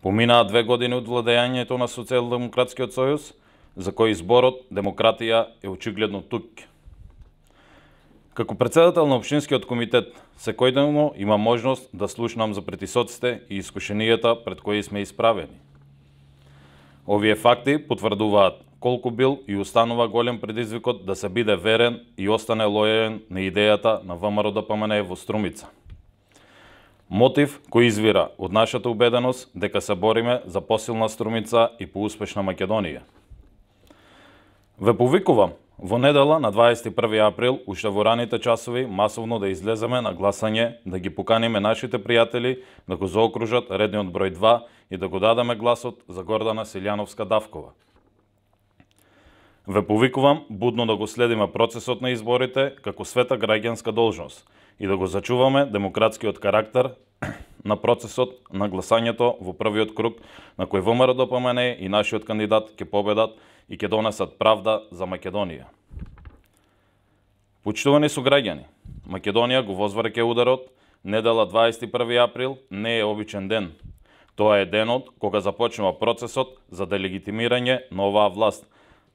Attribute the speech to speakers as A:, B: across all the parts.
A: Поминаа 2 години од владењето на Социјалдемократскиот сојуз, за кој зборот демократија е очигледно тук. Како председател на Општинскиот комитет, секојдневно има можност да слушнам за притисоците и искушенијата пред кои сме исправени. Овие факти потврдуваат колку бил и останува голем предизвикот да се биде верен и остане лојален на идејата на ВМРО-ДПМНЕ во Струмица. Мотив кој извира од нашата убеденост дека се бориме за посилна Струмица и поуспешна Македонија. Ве повикувам во недела на 21 април, уште во раните часови, масовно да излеземе на гласање, да ги поканиме нашите пријатели да го заокружат редниот број 2 и да го дадеме гласот за Гордана Силјановска-Давкова. Ве повикувам будно да го следиме процесот на изборите како света граѓанска должност и да го зачуваме демократскиот карактер на процесот на гласањето во првиот круг на кој ВМРО-ДПМНЕ и нашиот кандидат ќе победат и ќе донесат правда за Македонија. Почитувани суграѓани, Македонија го возвраќа ударот. Недела 21 април не е обичен ден. Тоа е денот кога започнува процесот за делегитимирање на оваа власт.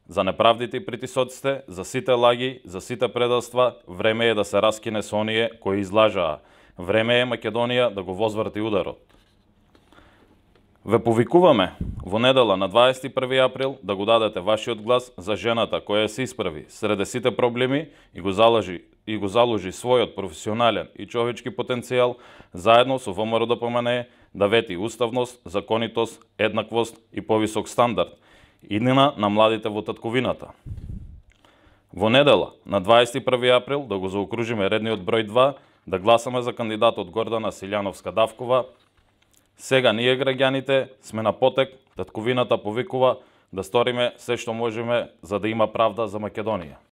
A: За неправдите и притисоците, за сите лаги, за сите предавства, време е да се раскине со оние кои излажаа. Време е Македонија да го возврати ударот. Ве повикуваме во недела на 21 април да го дадете вашиот глас за жената која се исправи среде сите проблеми и го заложи својот професионален и човечки потенцијал заедно со ВМРО-ДПМНЕ да вети уставност, законитост, еднаквост и повисок стандард, иднина на младите во татковината. Во недела на 21 април да го заокружиме редниот број 2, да гласаме за кандидатот Гордана Силјановска-Давкова. Сега ние граѓаните сме на потек, татковината повикува да сториме се што можеме за да има правда за Македонија.